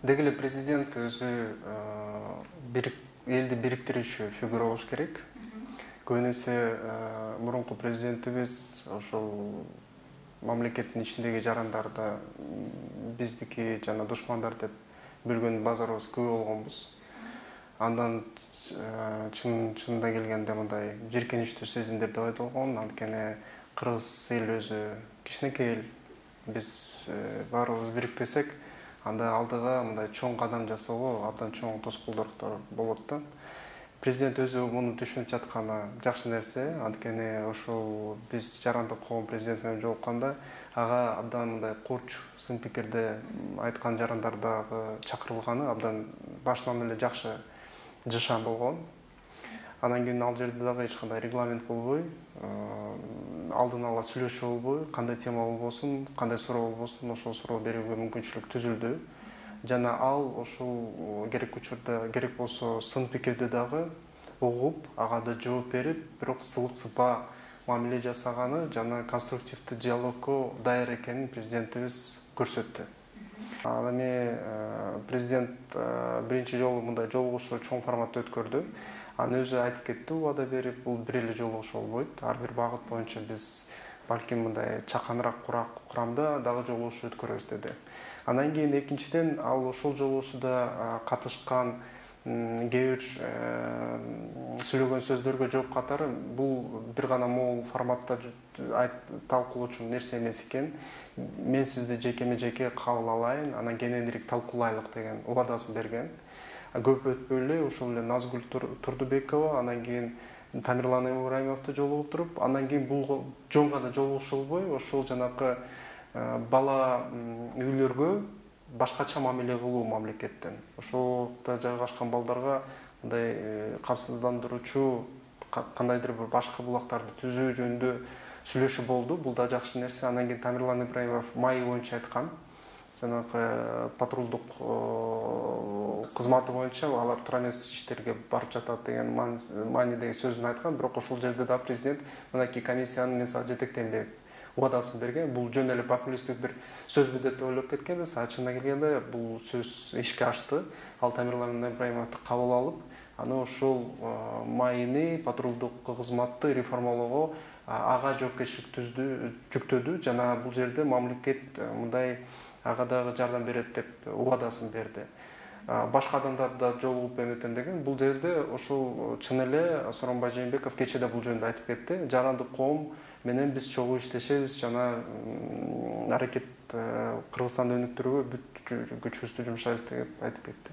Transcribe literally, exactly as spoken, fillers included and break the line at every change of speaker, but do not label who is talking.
Деги эле президент өзү элди бириктирүүчү фигура болуш керек. Көбүн эсе мурунку президентибиз ошол мамлекеттин ичиндеги жарандарды биздики жана душмандар деп бөлгөн базарыбыз көп болгонбуз. Андан чынында келгенде мындай жийиркеничтүү сезимдер да пайда болгон. Анткени кыргыз эли өзү кичинекей эл. Биз баарыбыз бирикпесек, анда алдыга мындай чоң кадам жасоого абдан чоң тоскоолдуктар болот да. Президент өзү муну түшүнүп жатканы жакшы нерсе. Анткени ошол биз жарандык коом президент менен жолукканда ага абдан мындай курч, сын пикирде айткан жарандардагы чакырылганы абдан башынан эле жакшы жашан болгон. Анан кийин ал жерде дагы эч кандай регламент болбой, алдын ала сүйлөшүү болбой, кандай тема болбосун, кандай суроо болбосун, ошол суроо берүүгө мүмкүнчүлүк түзүлдү. Жана ал ошол керек учурда, керек болсо сын пикирди дагы угуп, ага да жооп берип, бирок сылык сыпаа мамиле жасаганы жана конструктивдүү диалогго даяр экенин президентибиз көрсөттү. Ал эми президент биринчи жолу мындай жолугушуу чоң форматта өткөрдү. Аны өзү айтып кетти, убада берип, бул бир эле жолугушуу болбойт. Ар бир багыт боюнча биз балким мындай чаканыраак курамда дагы жолугушуу өткөрөбүз деди. Андан кийин экинчиден ал ошол жолугушууда катышкан кээ бир сүйлөгөн сөздөргө жооп катары бул бир гана могул форматта талкуулоочу нерсе эмес экен. Мен сизди жекеме жеке кабыл алайын, анан кененирээк талкуулайлык деген убадасын берген. Көп өтпөй эле ошол эле Назгүл Турдубекова, анан кийин Тамирлан Ибраимовду жолугуп туруп, андан кийин бул жөн гана жолугушуу болбой, ошол жанакы бала үйлөргө башкача мамиле кылуу мамлекеттен. Ошолда жайгашкан балдарга мындай камсыздандыруучу кандайдыр бир башка булактарды түзүү жөнүндө сүйлөшүү болду. Бул да жакшы нерсе. Андан кийин Тамирлан Ибраимов май боюнча айткан. Жанагы патрулдук кызматы боюнча алар туура эмес иштерге барып жатат деген маанидеги сөзүн айткан. Бирок ошол жерде да президент мынакей комиссияны мен сага жетектейм деп убадасын берген. Бул жөн эле популисттик бир сөзбү деп ойлоп кеткенбиз. А чынына келгенде бул сөз ишке ашты. Ал Тамирлан Ибраимовду кабыл алып, аны ошол майыны, патрулдук кызматты реформалоого ага жоопкерчилик жүктөдү жана бул жерде мамлекет мындай ага дагы жардам берет деп убадасын берди. Башка адамдар да жолугуп эметем деген. Бул жерде ошол чын эле Сооронбай Жээнбеков кечеде бул жөнүндө айтып кетти. Жарандык коом менен биз чогуу иштешебиз жана аракет Кыргызстанды өнүктүрүүгө бүт күчүбүздү жумшайбыз деп айтып кетти.